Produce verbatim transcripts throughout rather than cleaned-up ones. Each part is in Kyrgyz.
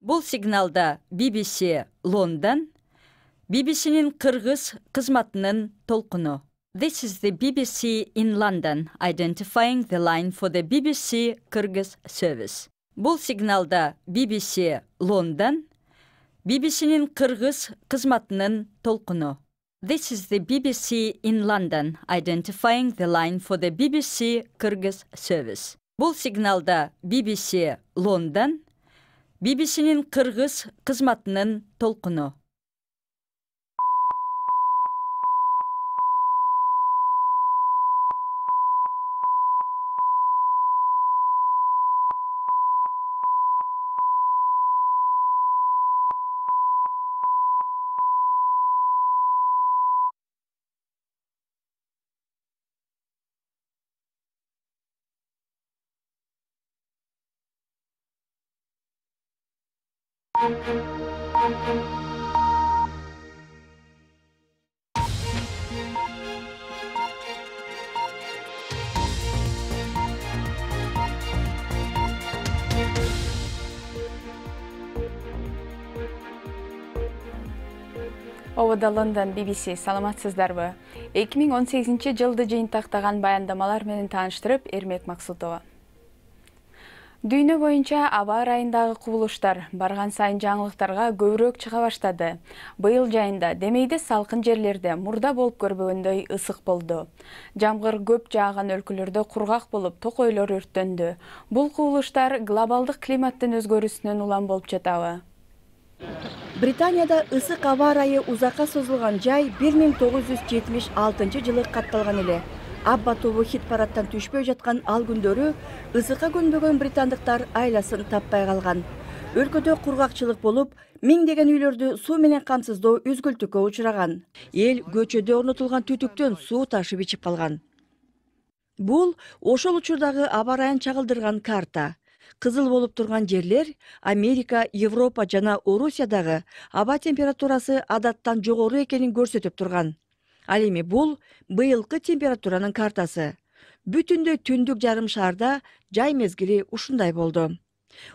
Бул сигналда би би си Лондон, би би синин кыргыз кызматынын толкуну. This is the B B C in London, identifying the line for the B B C Kyrgyz service. Бул сигналда би би си Лондон, би би синин кыргыз кызматынын толкуну. This is the B B C in London, identifying the line for the B B C Kyrgyz service. Бул сигналда би би си Лондон, би би синин кыргыз кызматынын толкуну. Обода Лондон би би си, саламатсыздарбы? эки миң он сегизинчи жылды жыйынтактаган баяндамалар менен тааныштырып, Эрмек Максутова. Дүйнө боюнча аба ырайындагы кубулуштар барган сайын жаңылыктарга көбүрөөк чыга баштады. Быйыл жайында Демейде салкын жерлерде мурда болуп көрбөгөндөй ысык болду. Жамгыр көп жааган өлкөлөрдө кургак болуп, токойлор өрттөндү. Бул кубулуштар глобалдык климаттын өзгөрүүсүнөн улам болуп жатабы? Британияда ысык аба ырайы узакка созулган жай бир миң тогуз жүз жетимиш алтынчы жылы катталган эле. Абба тобу хит парадтан түшпөй жаткан ал күндөрү ысыкка көнбөгөн британдыктар айласын таппай калган. Өлкөдө кургакчылык болуп, миңдеген үйлөрдү суу менен камсыздоо үзгүлтүккө учураган. Эл көчөдө орнотулган түтүктөн суу ташып ичип калган. Бул ошол учурдагы аба ырайын чагылдырган карта. Кызыл болуп турган жерлер Америка, Европа жана Орусиядагы аба температурасы адаттан жогору экенин көрсөтүп турган. Ал эми бул быйылкы температуранын картасы. Бүтүндөй түндүк жарым шаарда жай мезгили ушундай болду.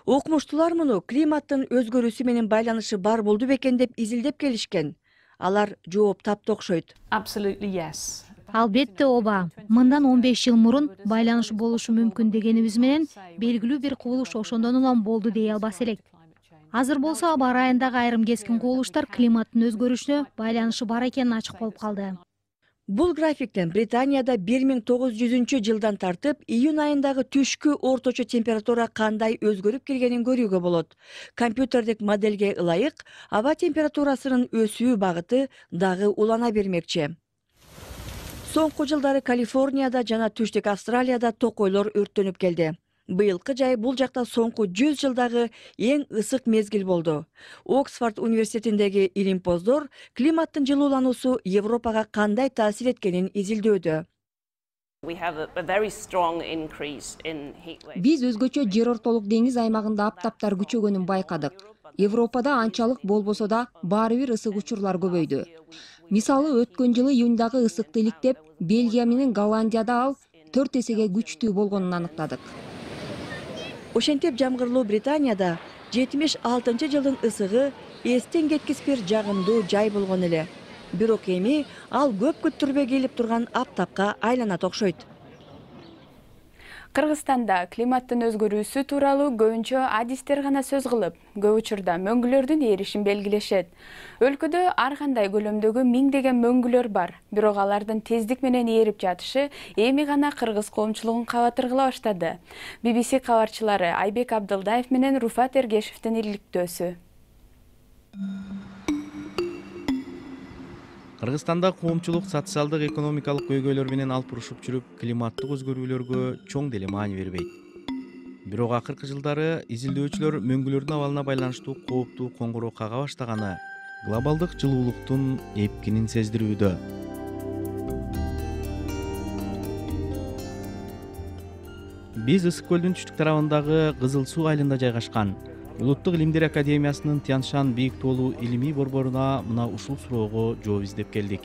Окумуштуулар муну климаттын өзгөрүүсү менен байланышы бар болду бекен деп изилдеп келишкен. Алар жооп таптı окшойт. Absolutely yes. Албетте ооба. Мындан он беш жыл мурун байланыш болушу мүмкүн дегенибиз менен белгилүү бир кубулуш ошондон улам болду дей албас элек. Азыр болсо аба ырайындагы айрым кескин кубулуштар климаттын өзгөрүшүнө байланышы бар экени ачык болуп калды. Бул графиктен Британияда бир миң тогуз жүзүнчү жылдан тартып июнь айындагы түшкү орточо температура кандай өзгөрүп келгенин көрүүгө болот. Компьютердик модельге ылайык аба температурасынын өсүү багыты дагы улана бермекчи. Соңку жылдары Калифорнияда жана түштүк Австралияда токойлор өрттөнүп келди. Быйылкы жай бул жакта соңку жүз жылдагы эң ысык мезгил болду. Оксфорд университетиндеги илимпоздор климаттын жылуулануусу Европага кандай таасир эткенин изилдөөдө. Биз өзгөчө жер ортолук деңиз аймагында аптаптар күчөгөнүн байкадык. Европада анчалык болбосо да баары бир ысык учурлар көбөйдү. Мисалы, өткөн жылы июндагы ысыкты иликтеп, Бельгия менен Голландияда ал төрт эсеге күчтүү болгонун аныктадык. Ошентип жамгырлуу Британияда жетимиш алтынчы жылдын ысыгы эстен кеткис бир жагымдуу жай болгон эле. Бирок эми ал көп күттүрбөй келип турган аптапка айланат окшойт. Кыргызстанда климаттын өзгөрүүсү тууралуу көбүнчө адистер гана сөз кылып, көп учурда мөңгүлөрдүн эришин белгилешет. Өлкөдө ар кандай көлөмдөгү миңдеген мөңгүлөр бар, бирок алардын тездик менен ээрип жатышы эми гана кыргыз коомчулугун кабатыргыла баштады. би би си кабарчылары Айбек Абдылдаев менен Руфат Эргешевдин иликтөөсү. Кыргызстанда коомчулук социалдык экономикалык көйгөйлөр менен алып урушуп жүрүп, климаттык өзгөрүүлөргө чоң деле маани бербейт. Бирок акыркы жылдары изилдөөчүлөр мөңгүлөрдүн абалына байланыштуу кооптуу коңгуроо кага баштаганы глобалдык жылуулуктун эпкинин сездирүүдө. Биз Ысык көлдүн түштүк тарабындагы Кызыл суу айылында жайгашкан Улуттук илимдер академиясынын Тяншан бийик тоолуу илимий борборуна мына ушул суроого жооп издеп келдик.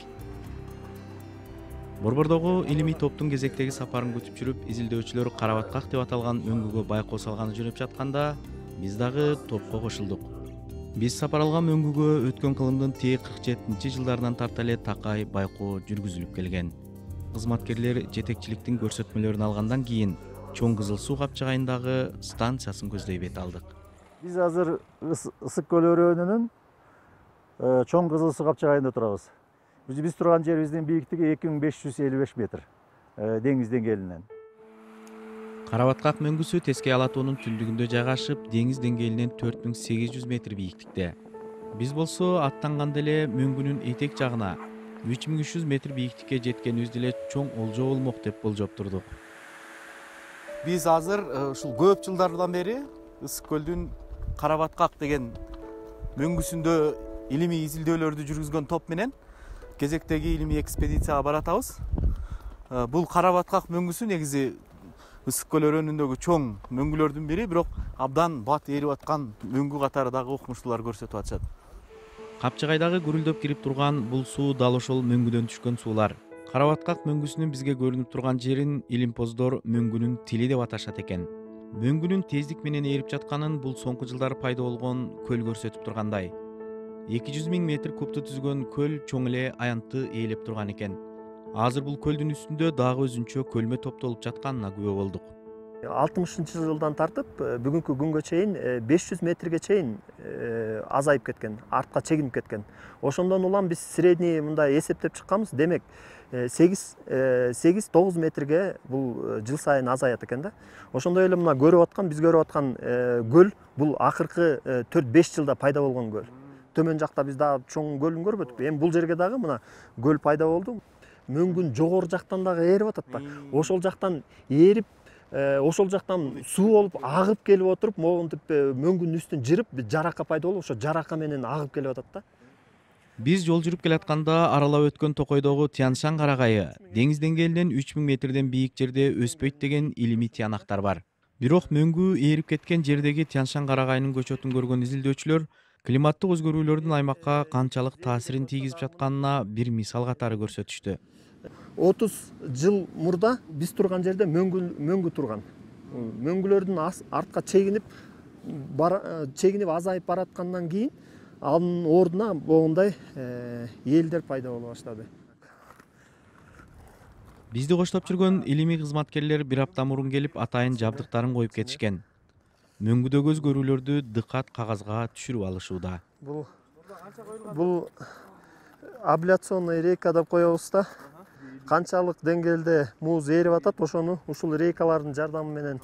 Борбордогу илимий топтун кезектеги сапарын күтүп жүрүп, изилдөөчүлөр Карабаткак деп аталган өңгөгө байкоо салганы жөнөп жатканда, биз дагы топко кошулдук. Биз сапар алган мөңгүгө өткөн кылымдын тээ кырк жетинчи жылдарынан тарта эле такай байкоо жүргүзүлүп келген. Кызматкерлер жетекчиликтин көрсөтмөлөрүн алгандан кийин Чоң Кызыл суу капчыгайындагы станциясын көздөй бет алдык. Биз азыр Ысык көл өрөөнүнүн Чоң Кызыл суу капчыгайында турабыз. Биз турган жерибиздин бийиктиги эки миң беш жүз элүү беш метр деңиз деңгээлинен. Карабаткак мөңгүсү Тескей ала тоонун түндүгүндө жайгашып, деңиз деңгээлинен төрт миң сегиз жүз метр бийиктикте. Биз болсо аттанганда эле мөңгүнүн этек жагына үч миң үч жүз метр бийиктикке жеткенибизди эле чоң олжо болмок деп болжоп турдук. Биз азыр ушул көп жылдардан бери Ысык көлдүн Карабаткак деген мөңгүсүндө илимий изилдөөлөрдү жүргүзгөн топ менен кезектеги илимий экспедицияга баратабыз. Бул Карабаткак мөңгүсү негизи Ысык көл өрөөнүндөгү чоң мөңгүлөрдүн бири, бирок абдан бат ээрип аткан мөңгү катары дагы укмуштуулар көрсөтүп атышат. Капчыгайдагы гүрүлдөп кирип турган бул суу дал ошол мөңгүдөн түшкөн суулар. Карабаткак мөңгүсүнүн бизге көрүнүп турган жерин илимпоздор мөңгүнүн тили деп аташат экен. Мөңгүнүн тездик менен ээрип жатканын бул соңку жылдары пайда болгон көл көрсөтүп тургандай. эки жүз миң метр кубту түзгөн көл чоң эле аянтты ээлеп турган экен. Азыр бул көлдүн үстүндө дагы өзүнчө көлмө топтолуп жатканына күбө болдук. алтымышынчы жылдан тартып бүгүнкү күнгө чейин беш жүз метрге чейин азайып кеткен, артка чегинип кеткен. Ошондон улам биз средний мындай эсептеп чыкканбыз. Демек сегиз тогуз метрге бул жыл сайын азаят экен да. Ошондой эле мына көрүп аткан, биз көрүп аткан көл бул акыркы төрт беш жылда пайда болгон көл. Төмөн жакта биз дагы чоң көлүн көрбөдүк. Эми бул жерге дагы мына көл пайда болду. Мөңгүн жогору жактан дагы ээрип атат да. Ошол жактан ээрип, ошол жактан суу болуп агып келип отуруп, могинтип мөңгүнүн үстүн жырып, жарака пайда болуп, ошо жарака менен агып келип атат да. Биз жол жүрүп келатканда аралап өткөн Токойдогу Тянь-Шань карагайы деңиз деңгээлинен үч миң метрден бийик жерде өспөйт деген илимий тыянактар бар. Бирок мөңгү ээрип кеткен жердеги Тянь-Шань карагайынын көчөтүн көргөн изилдөөчүлөр климаттык өзгөрүүлөрдүн аймакка канчалык таасирин тийгизип жатканына бир мисал катары көрсөтүштү. отуз жыл мурда биз турган жерде мөңгү мөңгү турган. Мөңгүлөрдүн артка чегинип чегинип азайып бараткандан кийин анын ордуна могундай элдер пайда боло баштады. Бизди коштоп жүргөн илимий кызматкерлер бир апта мурун келип атайын жабдыктарын коюп кетишкен. Мөңгүдөгү өзгөрүүлөрдү дыкат кагазга түшүрүп алышууда. Бул бул абляционный рейка деп коебуз да. Канчалык деңгээлде муз ээрип атат, ошону ушул рейкалардын жардамы менен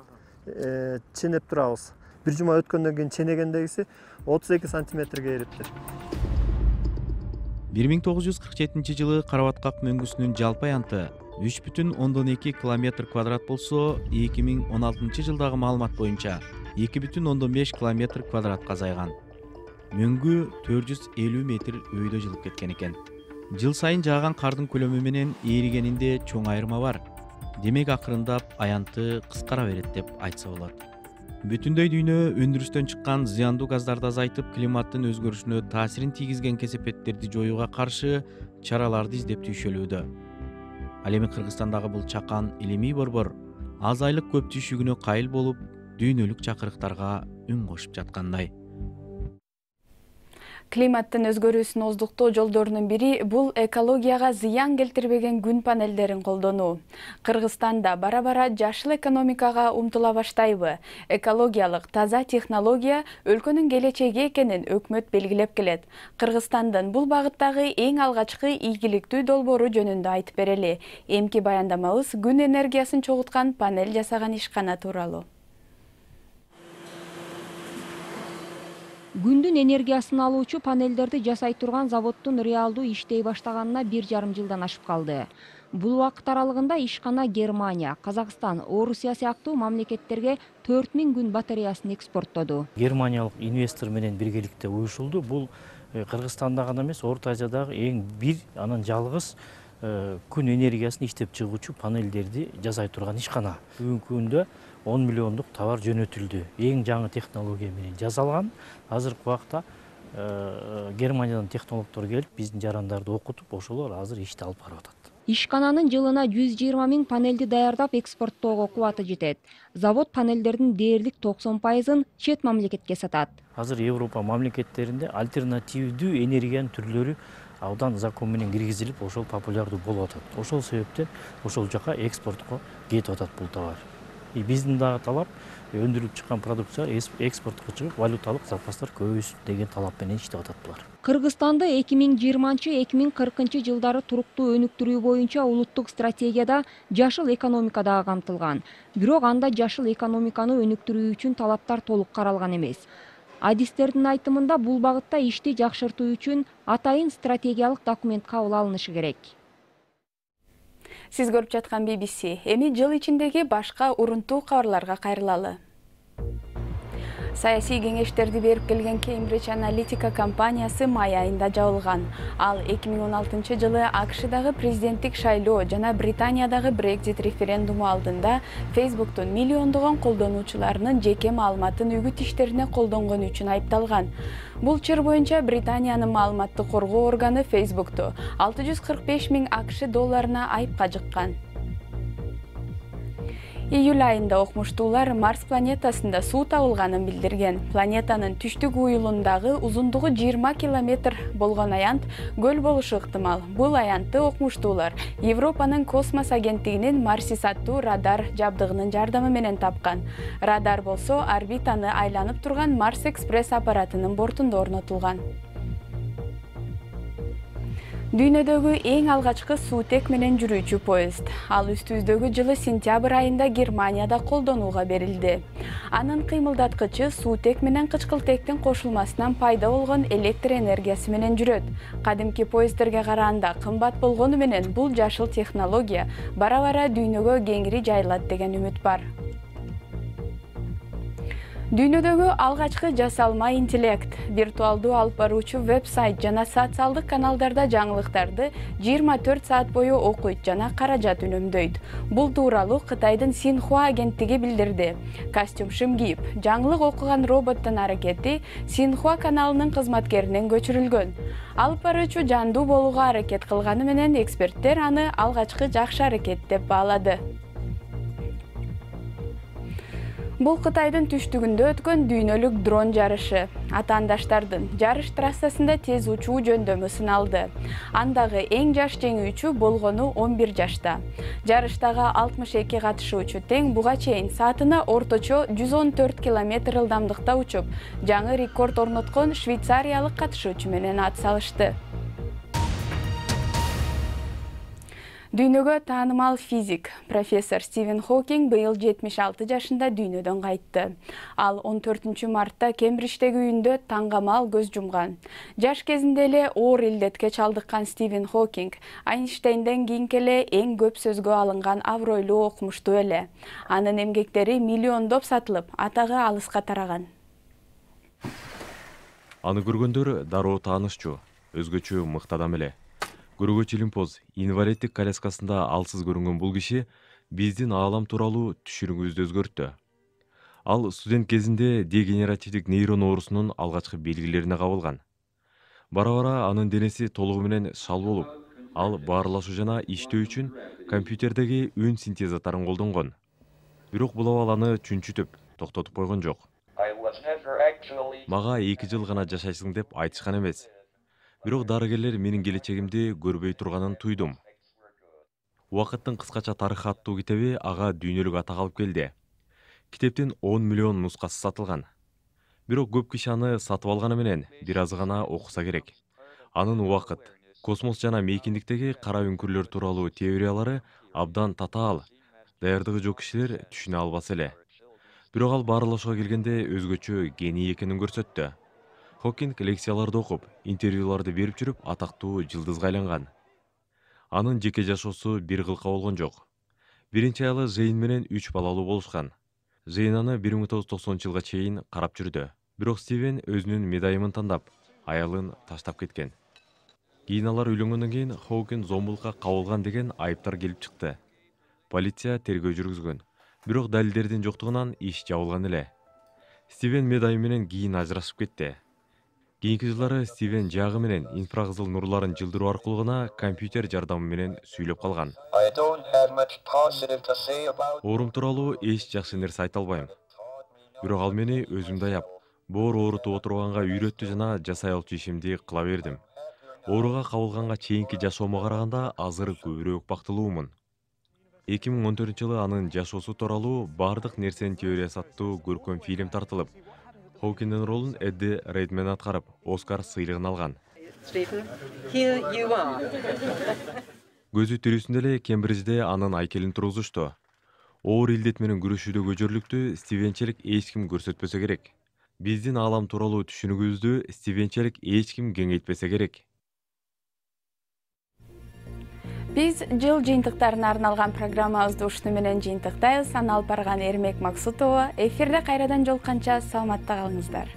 ченеп турабыз. Бир жума өткөндөн кийин ченегендегиси отуз эки сантиметрге ээриптир. бир миң тогуз жүз кырк жетинчи жылы Карабаткак мөңгүсүнүн жалпы аянты үч бүтүн ондон эки километр квадрат болсо, эки миң он алтынчы жылдагы маалымат боюнча эки бүтүн ондон беш километр квадратка азайган. Мөңгү төрт жүз элүү метр өйдө жылып кеткен экен. Жыл сайын жааган кардын көлөмү менен ээригенинде чоң айырма бар. Демек акырындап аянты кыскара берет деп айтса болот. Бүтүндөй дүйнө өндүрүштөн чыккан зыяндуу газдарды азайтып, климаттын өзгөрүшүнө таасирин тийгизген кесепеттерди жоюуга каршы чараларды издеп түйшөлүүдө. Ал эми Кыргызстандагы бул чакан илимий борбор аз айлык көп түйшүгүнө кайыл болуп, дүйнөлүк чакырыктарга үн кошуп жаткандай. Климаттын өзгөрүүсүн оздуктоо жолдорунун бири бул экологияга зыян келтирбеген күн панелдерин колдонуу. Кыргызстанда бара-бара жашыл экономикага умтула баштайбы? Экологиялык таза технология өлкөнүн келечеги экенин өкмөт белгилеп келет. Кыргызстандын бул багыттагы эң алгачкы ийгиликтүү долбоору жөнүндө айтып берели. Эмки баяндамабыз күн энергиясын чогулткан панель жасаган ишкана тууралуу. Күндүн энергиясын алуучу панелдерди жасай турган заводдун реалдуу иштей баштаганына бир жарым жылдан ашып калды. Бул убакыт аралыгында ишкана Германия, Казакстан, Орусия сыяктуу мамлекеттерге төрт миң күн батареясын экспорттоду. Германиялык инвестор менен биргеликте уюшулду. Бул Кыргызстанда гана эмес, Орто Азиядагы эң бир анан жалгыз күн энергиясын иштеп чыгуучу панелдерди жасай турган ишкана. Бүгүнкү күндө он миллиондук товар жөнөтүлдү. Эң жаңы технология менен жасалган. Азыркы убакта Германиядан технологдор келип, биздин жарандарды окутуп, ошолор азыр ишти алып барып атат. Ишкананын жылына жүз жыйырма миң панелди даярдап экспорттоого кубаты жетет. Завод панелдердин дээрлик токсон пайызын чет мамлекетке сатат. Азыр Европа мамлекеттеринде альтернативдүү энергиянын түрлөрү абдан закон менен киргизилип, ошол популярдуу болуп атат. Ошол себептен ошол жака экспортко кетип атат бул товар. И биздин дагы талап өндүрүлүп чыккан продукция экспортко чыгып, валюталык запастар көбөйсүн деген талап менен иштеп атат булар. Кыргызстанда эки миң жыйырманчы — эки миң кыркынчы жылдары туруктуу өнүктүрүү боюнча улуттук стратегияда жашыл экономика дагы камтылган. Бирок анда жашыл экономиканы өнүктүрүү үчүн талаптар толук каралган эмес. Адистердин айтымында бул багытта ишти жакшыртуу үчүн атайын стратегиялык документ кабыл алынышы керек. Сиз көрүп жаткан би би си. Эми жыл ичиндеги башка урунтуу кабарларга кайрылалы. Саясий кеңештерди берип келген Cambridge Analytica компаниясы май айында жабылган. Ал эки миң он алтынчы жылы АКШдагы президенттик шайлоо жана Британиядагы Brexit референдуму алдында Facebook'тун миллиондогон колдонуучуларынын жеке маалыматын үгүт иштерине колдонгон үчүн айыпталган. Бул чыр боюнча Британиянын маалыматтык коргоо органы Facebook'ту алты жүз кырк беш миң АКШ долларына айыпка жыккан. Июль айында окумуштуулар Марс планетасында суу табылганын билдирген. Планетанын түштүк уюлундагы узундугу жыйырма километр болгон аянт көл болушу ыктымал. Бул аянтты окумуштуулар Европанын космос агенттигинин Марсис аттуу радар жабдыгынын жардамы менен тапкан. Радар болсо орбитаны айланып турган Марс Экспресс аппаратынын бортунда орнотулган. Дүйнөдөгү эң алгачкы суутек менен жүрүүчү поезд. Ал үстүбүздөгү жылы сентябрь айында Германияда колдонууга берилди. Анын кыймылдаткычы суутек менен кычкылтектин кошулмасынан пайда болгон электр энергиясы менен жүрөт. Кадимки поезддерге караганда кымбат болгону менен бул жашыл технология бара-бара дүйнөгө кеңири жайылат деген үмүт бар. Дүйнөдөгү алгачкы жасалма интеллект, виртуалдуу алып баруучу веб-сайт жана социалдык каналдарда жаңылыктарды жыйырма төрт саат бою окуйт жана каражат үнөмдөйт. Бул тууралуу Кытайдын Синхуа агенттиги билдирди. Костюм шым кийип, жаңылык окуган роботтун аракети Синхуа каналынын кызматкеринен көчүрүлгөн. Алып баруучу жандуу болууга аракет кылганы менен эксперттер аны алгачкы жакшы аракет деп баалады. Бул Кытайдын түштүгүндө өткөн дүйнөлүк дрон жарышы. Атаандаштардын жарыш трассасында тез учуу жөндөмү сыналды. Андагы эң жаш жеңүүчү болгону он бир жашта. Жарыштагы алтымыш эки катышуучу тең буга чейин саатына орточо жүз он төрт километр ылдамдыкта учуп, жаңы рекорд орноткон швейцариялык катышуучу менен ат салышты. Дүйнөгө таанымал физик, профессор Стивен Хокинг быйыл жетимиш алты жашында дүйнөдөн кайтты. Ал он төртүнчү мартта Кембриждеги үйүндө таңгамал көз жумган. Жаш кезинде эле оор илдетке чалдыккан Стивен Хокинг Айнштейнден кийинки эле эң көп сөзгө алынган абройлуу окумуштуу эле. Анын эмгектери миллиондоп сатылып, атагы алыска тараган. Аны көргөндөр дароо таанышчу, өзгөчө мыкты адам эле. Көргөч илимпоз инвалиддик коляскасында алсыз көрүнгөн бул киши биздин аалам тууралуу түшүнүгүбүздү өзгөрттү. Ал студент кезинде дегенеративдик нейрон оорусунун алгачкы белгилерине кабылган. Бара-бара анын денеси толугу менен шал болуп, ал баарлашуу жана иштөө үчүн компьютердеги үн синтезаторун колдонгон. Бирок бул абал аны чүнчүтүп, токтотуп койгон жок. Мага эки жыл гана жашайсың деп айтышкан эмес. Бирок дарыгерлер менин келечегимди көрбөй турганын туйдум. Убакыттын кыскача тарыхы аттуу китеби ага дүйнөлүк атак алып келди. Китептин он миллион нускасы сатылган. Бирок көп киши аны сатып алганы менен бир аз гана окуса керек. Анын убакыт, космос жана мейкиндиктеги кара үңкүрлөр тууралуу теориялары абдан татаал. Даярдыгы жок кишилер түшүнө албаса эле. Бирок ал баарлашууга келгенде өзгөчө гений экенин көрсөттү. Хокинг лекцияларды окуп, интервьюларды берип жүрүп атактуу жылдызга айланган. Анын жеке жашоосу бир кылка болгон жок. Биринчи аялы Жейн менен үч балалуу болушкан. Жейн аны бир миң тогуз жүз токсонунчу жылга чейин карап жүрдү. Бирок Стивен өзүнүн медайымын тандап, аялын таштап кеткен. Кийин алар үйлөнгөндөн кийин Хокинг зомбулукка кабылган деген айыптар келип чыкты. Полиция тергөө жүргүзгөн. Бирок далилдердин жоктугунан иш жабылган эле. Стивен медайым менен кийин ажырашып кетти. Кийинки жылдары Стивен жагы менен инфракызыл нурларын жылдыруу аркылуу гана компьютер жардамы менен сүйлөп калган. Оорум тууралуу эч жакшы нерсе айта албайм. Бирок ал мени өзүмдү аяп, боор оорутуп отурганга үйрөттү жана жасай алчу ишимди кыла бердим. Ооруга кабылганга чейинки жашоомо караганда азыр көбүрөөк бактылуумун. эки миң он төртүнчү жылы анын жашоосу тууралуу бардык нерсенин теориясы аттуу көркөм фильм тартылып, Хоукиндин ролун Эдди Рейдмен аткарып, Оскар сыйлыгын алган. Көзү тирүүсүндө эле Кембриджде анын айкелин тургузушту. Оор илдет менен күрөшүүдө көжөрлүктү стивенчелик эч ким көрсөтпөсө керек. Биздин аалам тууралуу түшүнүгүбүздү стивенчелик эч ким кеңейтпесе керек. Биз жыл жыйынтыктарына арналган программабызды ушуну менен жыйынтыктайбыз. Аны алып барган Эрмек Максутова. Эфирде кайрадан жолукканча саламатта калыңыздар.